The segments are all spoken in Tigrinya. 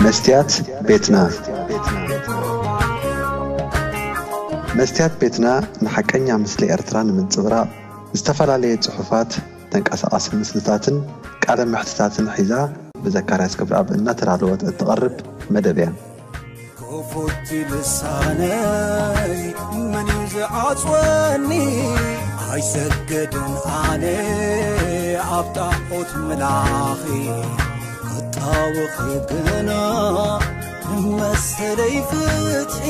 መስትያት ቤትና። መስትያት ቤትና ንሓቀኛ ምስሊ ኤርትራ ንምንጽብራቕ ዝተፈላለየ ጽሑፋት፣ ተንቀሳቓሲ ምስልታትን ቃለ መሕትታትን ሒዛ ብዘካርያስ ክብረኣብ እናተዳለወት እትቐርብ መደብ እያ። ክፉት ልሳነይ መን እዩ ዝዓጽወኒ? ኣይሰገድን ኣነ ኣብ ጣዖት ምላኺ፣ ክጣወኺ ግና ንመሰለይ ፍትሒ።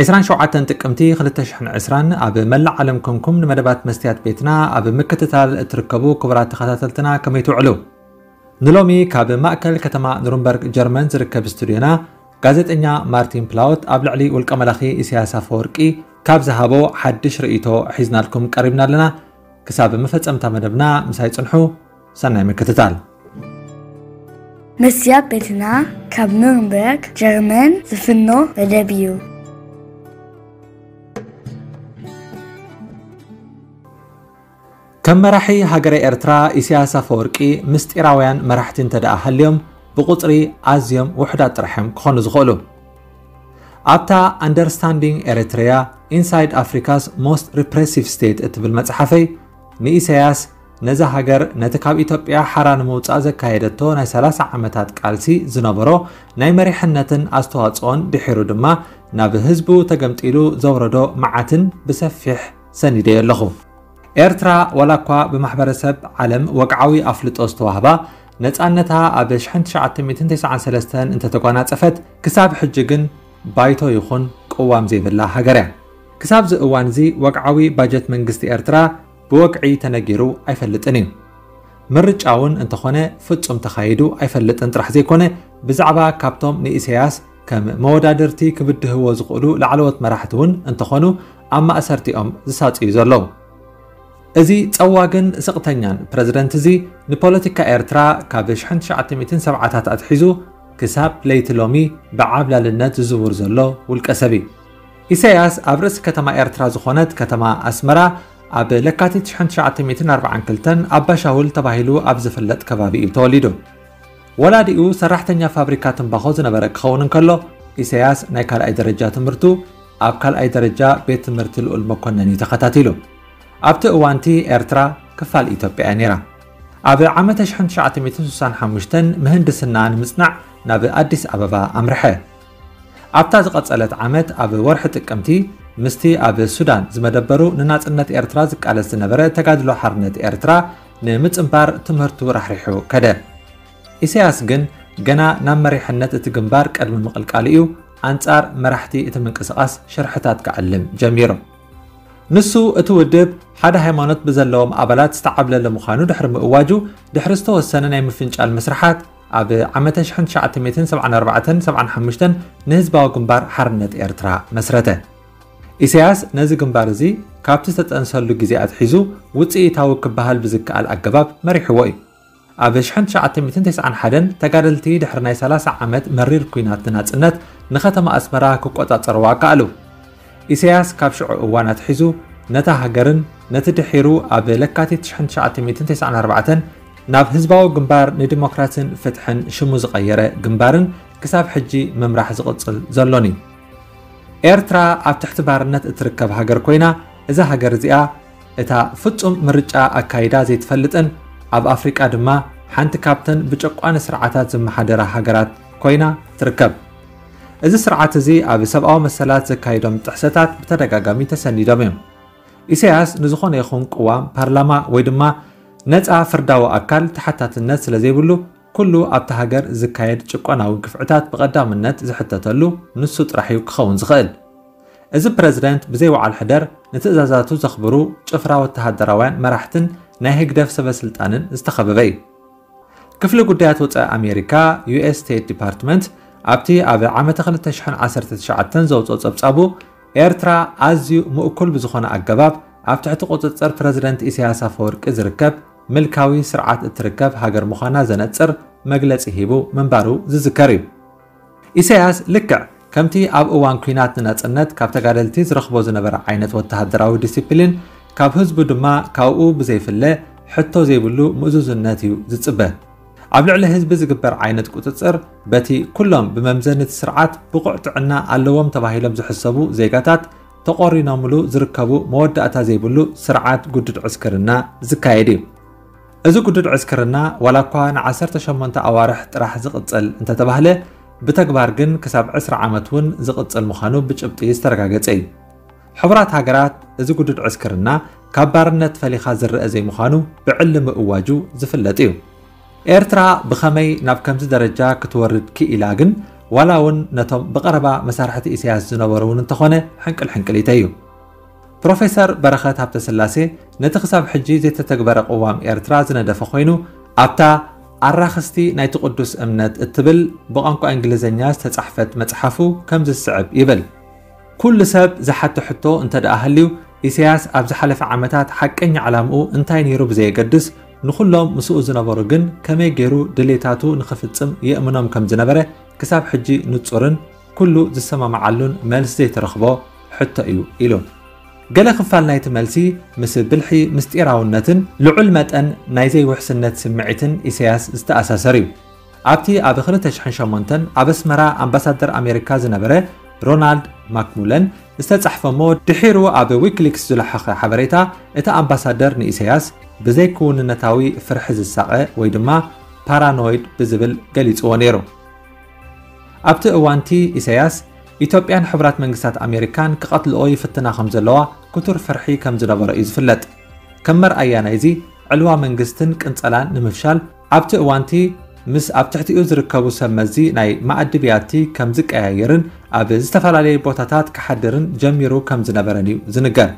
ዕስራን ሸውዓተን ጥቅምቲ ክልተ ሽሕን ዕስራን ኣብ መላእ ዓለም ኮንኩም ንመደባት መስትያት ቤትና ኣብ ምክትታል እትርከቡ ክቡራት ተኸታተልትና ከመይ ትውዕሉ? ንሎሚ ካብ ማእከል ከተማ ኑርንበርግ ጀርመን ዝርከብ ስቱድዮና ጋዜጠኛ ማርቲን ፕላውት ኣብ ልዕሊ ውልቀ መላኺ ኢሳያስ ኣፈወርቂ ካብ ዝሃቦ ሓድሽ ርእይቶ ሒዝናልኩም ቀሪብና ኣለና። ክሳብ መፈጸምታ መደብና ምሳይ ጽንሑ። ሰናይ ምክትታል። መስትያት ቤትና ካብ ኑርንበርግ ጀርመን ዝፍኖ መደብ እዩ። ከም መራሒ ሃገረ ኤርትራ ኢሳያስ ኣፈወርቂ ምስጢራውያን መራሕቲ እንተ ደኣ ሃልዮም ብቁጽሪ ኣዝዮም ውሑዳት ጥራሕ እዮም ክኾኑ ዝኽእሉ። ኣብታ Understanding Eritrea: Inside Africa's Most Repressive State እትብል መጽሓፈይ ንኢሳያስ ነዛ ሃገር ነቲ ካብ ኢትዮጵያ ሓራ ንምውጻእ ዘካየደቶ ናይ ሰላሳ ዓመታት ቃልሲ ዝነበሮ ናይ መሪሕነትን ኣስተዋጽኦን ድሒሩ ድማ ናብ ህዝቡ ተገምጢሉ ዘውረዶ መዓትን ብሰፊሕ ሰኒደዮ ኣለኹ። ኤርትራ ዋላ እኳ ብማሕበረሰብ ዓለም ወግዓዊ ኣፍልጦ ዝተዋህባ ነጻነታ ኣብ ሽሕን ትሽዓተ ሚእትን ተስዓን ሰለስተን እንተተጓናጸፈት ክሳብ ሕጂ ግን ባይቶ ይኹን ቅዋም ዘይብላ ሃገር እያ። ክሳብዚ እዋን እዚ ወግዓዊ ባጀት መንግስቲ ኤርትራ ብወግዒ ተነጊሩ ኣይፈልጥን እዩ። ምርጫ እውን እንተኾነ ፍጹም ተኻይዱ ኣይፈልጥን ጥራሕ ዘይኮነ ብዛዕባ ካብቶም ንኢሳያስ ከም መወዳድርቲ ክብድህዎ ዝኽእሉ ላዕለዎት መራሕቲ እውን እንተኾኑ ኣብ ማእሰርቲኦም ዝሳጽዩ ዘለዉ። እዚ ጸዋግን ስቕተኛን ፕረዚደንት እዚ ንፖለቲካ ኤርትራ ካብ ሽሕን ትሽዓተ ሚእትን ሰብዓታት ኣትሒዙ ክሳብ ለይቲ ሎሚ ብዓብላልነት ዝዝውር ዘሎ ውልቀ ሰብ እዩ። ኢሳያስ ኣብ ርእሲ ከተማ ኤርትራ ዝኾነት ከተማ ኣስመራ ኣብ ለካቲት ሽሕን ትሽዓተ ሚእትን ኣርባዓን ክልተን ኣባሻውል ተባሂሉ ኣብ ዝፍለጥ ከባቢ እዩ ተወሊዱ። ወላዲኡ ሰራሕተኛ ፋብሪካ ትምባኾ ዝነበረ ክኸውን እንከሎ ኢሳያስ ናይ ካልኣይ ደረጃ ትምህርቱ ኣብ ካልኣይ ደረጃ ቤት ትምህርቲ ልኡል መኮነን እዩ ተኸታቲሉ። ኣብቲ እዋንቲ ኤርትራ ክፋል ኢትዮጵያ እያ ነይራ። ኣብ ዓመተ ሽሕን ትሽዓተ ሚእትን ስሳን ሓሙሽተን ምህንድስና ንምጽናዕ ናብ ኣዲስ ኣበባ ኣምርሐ። ኣብታ ዝቐጸለት ዓመት ኣብ ወርሒ ጥቅምቲ ምስቲ ኣብ ሱዳን ዝመደበሩ ንናጽነት ኤርትራ ዝቃለስ ዝነበረ ተጋድሎ ሓርነት ኤርትራ ንምጽንባር ትምህርቱ ራሕሪሑ ከደ። ኢሳያስ ግን ገና ናብ መሪሕነት እቲ ግንባር ቅድሚ ምቕልቃሉ እዩ ኣንጻር መራሕቲ እቲ ምንቅስቓስ ሽርሕታት ክዕልም ጀሚሩ። ንሱ እቲ ውድብ ሓደ ሃይማኖት ብዘለዎም ኣባላት ዝተዓብለለ ምዃኑ ድሕሪ ምእዋጁ ድሕሪ ዝተወሰነ ናይ ምፍንጫል መስርሓት ኣብ ዓመተ ሽሕን ትሽዓተ ሚእትን ሰብዓን ኣርባዕተን ሰብዓን ሓሙሽተን ንህዝባዊ ግንባር ሓርነት ኤርትራ መስረተ። ኢሳያስ ነዚ ግንባር እዚ ካብቲ ዝተጠንሰሉ ግዜ ኣትሒዙ ውጽኢታዊ ክበሃል ብዝከኣል ኣገባብ መሪሕዎ እዩ። ኣብ ሽሕን ትሽዓተ ሚእትን ተስዓን ሓደን ተጋደልቲ ድሕሪ ናይ ሰላሳ ዓመት መሪር ኲናት ንናጽነት ንከተማ ኣስመራ ክቆጻጸርዋ ከኣሉ። ኢሳያስ ካብ ሽዑ እዋን ኣትሒዙ ነታ ሃገርን ነቲ ድሒሩ ኣብ ለካቲት ሽሕን ትሽዓተ ሚእትን ተስዓን ኣርባዕተን ናብ ህዝባዊ ግንባር ንዲሞክራስን ፍትሕን ሽሙ ዝቐየረ ግንባርን ክሳብ ሕጂ ምምራሕ ዝቕጽል ዘሎን እዩ። ኤርትራ ኣብ ትሕቲ ባርነት እትርከብ ሃገር ኮይና እዛ ሃገር እዚኣ እታ ፍጹም ምርጫ ኣካይዳ ዘይትፈልጥን ኣብ ኣፍሪቃ ድማ ሓንቲ ካብተን ብጨቋኒ ስርዓታት ዝመሓደራ ሃገራት ኮይና ትርከብ። እዚ ስርዓት እዚ ኣብ ሰብኣዊ መሰላት ዘካይዶም ጥሕሰታት ብተደጋጋሚ ተሰኒዶም እዮም። ኢሳያስ ንዝኾነ ይኹን ቅዋም፣ ፓርላማ ወይ ድማ ነጻ ፍርዳዊ ኣካል ተሓታትነት ስለ ዘይብሉ ኩሉ ኣብታ ሃገር ዝካየድ ጭቆናዊ ግፍዕታት ብቐዳምነት ዝሕተተሉ ንሱ ጥራሕ እዩ ክኸውን ዝኽእል። እዚ ፕረዚደንት ብዘይ ወዓል ሕደር ንትእዛዛቱ ዘኽብሩ ጭፍራ ወተሃደራውያን መራሕትን ናይ ህግደፍ ሰበ ስልጣንን ዝተኸበበ እዩ። ክፍሊ ጉዳያት ወጻኢ ኣሜሪካ፣ ዩ ኤስ ስቴት ዲፓርትመንት፣ ኣብቲ ኣብ ዓመተ ክልተ ሽሕን ዓሰርተ ትሽዓተን ዘውጽኦ ጸብጻቡ ኤርትራ ኣዝዩ ምእኩል ብዝኾነ ኣገባብ ኣብ ትሕቲ ቁጽጽር ፕረዚደንት ኢሳያስ ኣፈወርቂ ዝርከብ ምልካዊ ስርዓት እትርከብ ሃገር ምዃና ዘነጽር መግለጺ ሂቡ ምንባሩ ዝዝከር እዩ። ኢሳያስ ልክዕ ከምቲ ኣብ እዋን ኲናት ንናጽነት ካብ ተጋደልቲ ዝረኽቦ ዝነበረ ዓይነት ወተሃደራዊ ዲሲፕሊን፣ ካብ ህዝቡ ድማ ካብኡ ብዘይፍለ ሕቶ ዘይብሉ ምእዙዝነት እዩ ዝጽበ። ኣብ ልዕሊ ህዝቢ ዝግበር ዓይነት ቁጽጽር፣ በቲ ኩሎም ብመምዘኒ እቲ ስርዓት ብቑዕ ጥዕና ኣለዎም ተባሂሎም ዝሕሰቡ ዜጋታት ተቖሪኖምሉ ዝርከቡ መወዳእታ ዘይብሉ ስርዓት ግዱድ ዕስክርና ዝካየድ እዩ። እዚ ግዱድ ዕስክርና ዋላ እኳ ንዓሰርተ ሸሞንተ ኣዋርሕ ጥራሕ ዝቕጽል እንተተባህለ፣ ብተግባር ግን ክሳብ ዕስራ ዓመት እውን ዝቕጽል ምዃኑ ብጭብጢ ዝተረጋገጸ እዩ። ሕቡራት ሃገራት እዚ ግዱድ ዕስክርና ካብ ባርነት ፈሊኻ ዝረአ ዘይምዃኑ ብዕሊ ምእዋጁ ዝፍለጥ እዩ። ኤርትራ ብኸመይ ናብ ከምዚ ደረጃ ክትወርድ ክኢላ ግን፣ ዋላ እውን ነቶም ብቐረባ መሳርሕቲ ኢሳያስ ዝነበሩ እውን እንተኾነ ሕንቅል ሕንቅሊተይ እዩ። ፕሮፌሰር በረኸት ሃብተስላሴ ነቲ ክሳብ ሕጂ ዘይተተግበረ ቅዋም ኤርትራ ዝነደፈ ኮይኑ፣ ኣብታ ኣራኽስቲ ናይቲ ቅዱስ እምነት እትብል ብቋንቋ እንግሊዝኛ ዝተጻሕፈት መጽሓፉ ከምዚ ዝስዕብ ይብል። ኩሉ ሰብ ዝሓቶ ሕቶ እንተ ደኣ ሃልዩ፣ ኢሳያስ ኣብ ዝሓለፈ ዓመታት ሓቀኛ ዕላምኡ እንታይ ነይሩ ብዘየገድስ፣ ንኹሎም ምስኡ ዝነበሩ ግን ከመይ ገይሩ ድሌታቱ ንኽፍጽም የእምኖም ከም ዝነበረ ክሳብ ሕጂ ንጹርን ኩሉ ዝሰማማዓሉን መልሲ ዘይተረኽቦ ሕቶ እዩ ኢሉ። ገለ ክፋል ናይቲ መልሲ ምስ ብልሒ ምስጢራውነትን ልዑል መጠን ናይ ዘይውሕስነት ስምዒትን ኢሳያስ ዝተኣሳሰር እዩ። ኣብቲ ኣብ ክልተ ሽሕን ሸሞንተን ኣብ ኣስመራ ኣምባሳደር ኣሜሪካ ዝነበረ ሮናልድ ማክሙለን ዝተጻሕፈ እሞ ድሒሩ ኣብ ዊኪሊክስ ዝለሓኸ ሓበሬታ፣ እቲ ኣምባሳደር ንኢሳያስ ብዘይክውንነታዊ ፍርሒ ዝሳቐ ወይ ድማ ፓራኖይድ ብዝብል ገሊጽዎ ነይሩ። ኣብቲ እዋንቲ ኢሳያስ፣ ኢትዮጵያን ሕቡራት መንግስታት ኣሜሪካን ክቐትልኦ ይፍትና ከም ዘለዋ ክቱር ፍርሒ ከም ዝነበሮ እዩ ዝፍለጥ። ከም መርኣያ ናይዚ፣ ዕልዋ መንግስትን ቅንጸላን ንምፍሻል፣ ኣብቲ እዋንቲ ምስ ኣብ ትሕቲኡ ዝርከቡ ሰብ መዚ ናይ መኣዲ ብያቲ ከም ዝቀያየርን ኣብ ዝተፈላለየ ቦታታት ክሓድርን ጀሚሩ ከም ዝነበረን እዩ ዝንገር።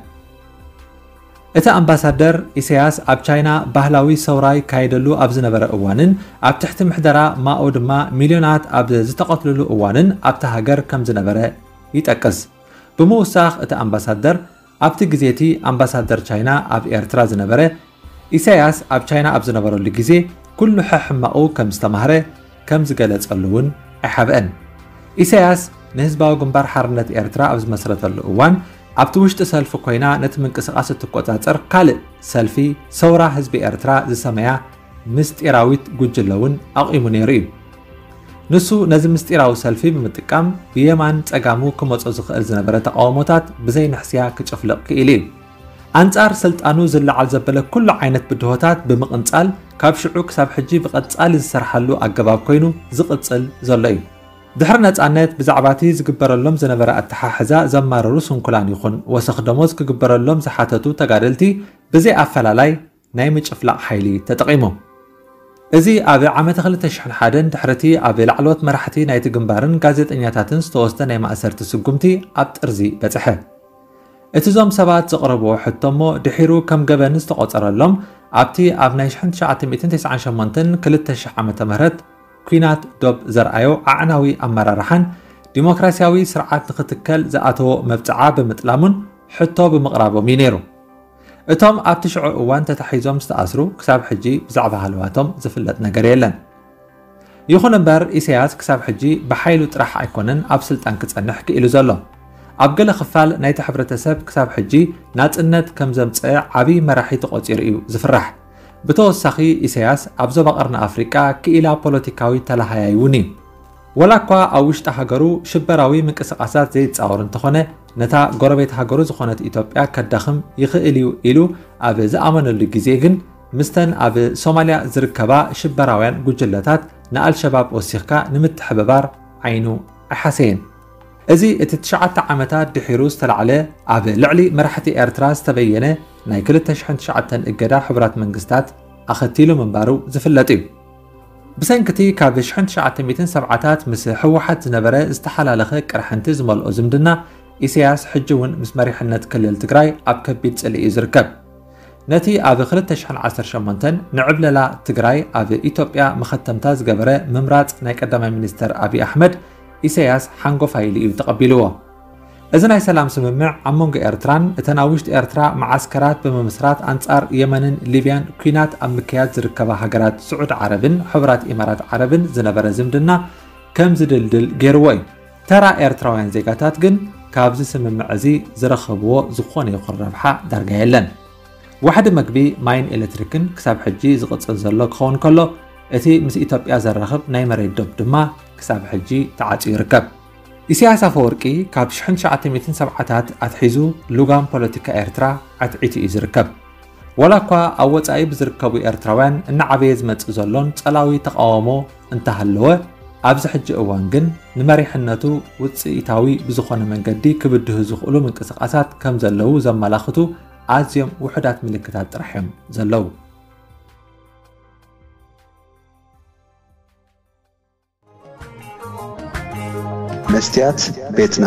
እቲ ኣምባሳደር፣ ኢሳያስ ኣብ ቻይና ባህላዊ ሰውራ ይካየደሉ ኣብ ዝነበረ እዋንን ኣብ ትሕቲ ምሕደራ ማኦ ድማ ሚልዮናት ኣብ ዝተቐትልሉ እዋንን ኣብታ ሃገር ከም ዝነበረ ይጠቅስ። ብምውሳኽ እቲ ኣምባሳደር፣ ኣብቲ ግዜ እቲ ኣምባሳደር ቻይና ኣብ ኤርትራ ዝነበረ፣ ኢሳያስ ኣብ ቻይና ኣብ ዝነበረሉ ግዜ ኩሉ ሕሕማቑ ከም ዝተማህረ ከም ዝገለጸሉ እውን ኣይሓብአን። ኢሳያስ ንህዝባዊ ግንባር ሓርነት ኤርትራ ኣብ ዝመስረተሉ እዋን፣ ኣብቲ ውሽጢ ሰልፊ ኮይና ነቲ ምንቅስቓስ እትቆጻጸር ካልእ ሰልፊ ሰውራ ህዝቢ ኤርትራ ዝሰመያ ምስጢራዊት ጉጅለ እውን ኣቑሙ ነይሩ እዩ። ንሱ ነዚ ምስጢራዊ ሰልፊ ብምጥቃም ብየማን ጸጋሙ ክመጾ ዝኽእል ዝነበረ ተቓውሞታት ብዘይንሕስያ ክጭፍልቕ ክኢሉ እዩ። ኣንጻር ስልጣኑ ዝለዓል ዘበለ ኩሉ ዓይነት ብድሆታት ብምቕንጻል፣ ካብ ሽዑ ክሳብ ሕጂ ብቐጻሊ ዝሰርሓሉ ኣገባብ ኮይኑ ዝቕጽል ዘሎ እዩ። ድሕሪ ነጻነት፣ ብዛዕባ እቲ ዝግበረሎም ዝነበረ ኣተሓሕዛ ዘማረሩ ስንኩላን ይኹን ወሰኽ ደሞዝ ክግበረሎም ዝሓተቱ ተጋደልቲ ብዘይ ኣፈላላይ ናይ ምጭፍላቕ ሓይሊ ተጠቒሙ። እዚ ኣብ ዓመተ ክልተ ሽሕን ሓደን ድሕሪ እቲ ኣብ ላዕለዎት መራሕቲ ናይቲ ግንባርን ጋዜጠኛታትን ዝተወስደ ናይ ማእሰርቲ ስጉምቲ ኣብ ጥርዚ በጽሐ። እቲ እዞም ሰባት ዘቕረብዎ ሕቶ እሞ ድሒሩ ከም ገበን ዝተቖጸረሎም፣ ኣብቲ ኣብ ናይ ሽሕን ትሽዓተ ሚእትን ተስዓን ሸሞንተን ክልተ ሽሕ ዓመተ ምህረት ኲናት ዶብ ዘርኣዮ ኣዕናዊ ኣመራርሓን ዲሞክራስያዊ ስርዓት ንኽትከል ዝኣተዎ መብጽዓ ብምጥላሙን ሕቶ ብምቕራቦም እዩ ነይሩ። እቶም ኣብቲ ሽዑ እዋን ተታሒዞም ዝተኣስሩ ክሳብ ሕጂ ብዛዕባ ሃለዋቶም ዝፍለጥ ነገር የለን። ይኹን እምበር፣ ኢሳያስ ክሳብ ሕጂ ብሓይሉ ጥራሕ ኣይኮነን ኣብ ስልጣን ክጸንሕ ክኢሉ ዘሎ። ኣብ ገለ ክፋል ናይቲ ሕብረተሰብ ክሳብ ሕጂ ናጽነት ከም ዘምጽአ ዓቢ መራሒ ተቖጺሩ እዩ ዝፍራሕ። ብተወሳኺ፣ ኢሳያስ ኣብ ዞባ ቀርኒ ኣፍሪቃ ክኢላ ፖለቲካዊ ተላሃያይ እውን እዩ። ወላ እኳ ኣብ ውሽጢ ሃገሩ ሽበራዊ ምንቅስቓሳት ዘይጻወር እንተኾነ፣ ነታ ጎረቤት ሃገሩ ዝኾነት ኢትዮጵያ ከዳኽም ይኽእል እዩ ኢሉ ኣብ ዝኣመነሉ ግዜ ግን፣ ምስተን ኣብ ሶማልያ ዝርከባ ሽበራውያን ጉጅለታት ንኣልሸባብ ወሲኽካ ንምትሕብባር ዓይኑ ኣይሓሰየን። እዚ እቲ ትሽዓተ ዓመታት ድሒሩ ዝተላዕለ ኣብ ልዕሊ መራሕቲ ኤርትራ ዝተበየነ ናይ ክልተ ሽሕን ትሽዓተን እገዳ ሕቡራት መንግስታት ኣኸቲሉ ምንባሩ ዝፍለጥ እዩ። ብሰንኪ እቲ ካብ ሽሕን ትሽዓተ ሚእትን ሰብዓታት ምስ ህወሓት ዝነበረ ዝተሓላለኸ ቅርሕንቲ ዝመልኦ ዝምድና፣ ኢሳያስ ሕጂ እውን ምስ መሪሕነት ክልል ትግራይ ኣብ ከቢድ ጽልኢ እዩ ዝርከብ። ነቲ ኣብ ክልተ ሽሕን ዓሰርተ ሸሞንተን ንዕብለላ ትግራይ ኣብ ኢትዮጵያ መኸተምታ ዝገበረ ምምራጽ ናይ ቀዳማይ ሚኒስተር ኣብይ ኣሕመድ፣ ኢሳያስ ሓንጎፋይ ኢሉ እዩ ተቐቢልዎ። እዚ ናይ ሰላም ስምምዕ ኣብ መንጎ ኤርትራን እተን ኣብ ውሽጢ ኤርትራ መዓስከራት ብምምስራት ኣንጻር የመንን ሊብያን ኲናት ኣብ ምክያድ ዝርከባ ሃገራት ስዑድ ዓረብን ሕቡራት ኢማራት ዓረብን ዝነበረ ዝምድና ከም ዝድልድል ገይርዎ እዩ። ተራ ኤርትራውያን ዜጋታት ግን ካብዚ ስምምዕ እዚ ዝረኸብዎ ዝኾነ ይኹን ረብሓ ዳርጋ የለን። ዋሕዲ መግቢ፣ ማይን ኤሌክትሪክን ክሳብ ሕጂ ዝቕጽል ዘሎ ክኸውን ከሎ፣ እቲ ምስ ኢትዮጵያ ዘራኽብ ናይ መሬት ዶብ ድማ ክሳብ ሕጂ ተዓጽዩ ይርከብ። ኢሳያስ ኣፈወርቂ ካብ ሽሕን ትሽዓተ ሚእትን ሰብዓታት ኣትሒዙ ልጓም ፖለቲካ ኤርትራ ዓትዒቱ እዩ ዝርከብ። ዋላ እኳ ኣብ ወጻኢ ብዝርከቡ ኤርትራውያን እናዓበየ ዝመጽእ ዘሎን ጸላዊ ተቓውሞ እንተሃለወ፣ ኣብዚ ሕጂ እዋን ግን ንመሪሕነቱ ውጽኢታዊ ብዝኾነ መንገዲ ክብድሁ ዝኽእሉ ምንቅስቓሳት ከም ዘለዉ ዘመላኽቱ ኣዝዮም ውሑዳት ምልክታት ጥራሕ እዮም ዘለዉ። መስትያት ቤትና።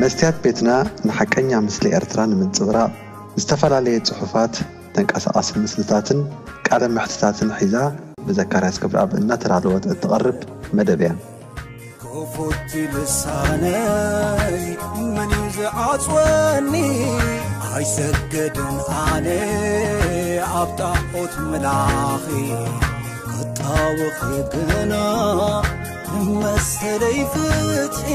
መስትያት ቤትና ንሓቀኛ ምስሊ ኤርትራ ንምንጽብራቕ ዝተፈላለየ ጽሑፋት፣ ተንቀሳቓሲ ምስልታትን ቃለ መሕትታትን ሒዛ ብዘካርያስ ገብረኣብ እናተዳለወት እትቐርብ መደብ እያ። ክፉት ልሳነይ መን እዩ ዝዓጽወኒ? ኣይሰግድን ኣነ ኣብ ጣዖት ምላኺ፣ ክጣወኺ ግና ንመሰለይ ፍትሒ።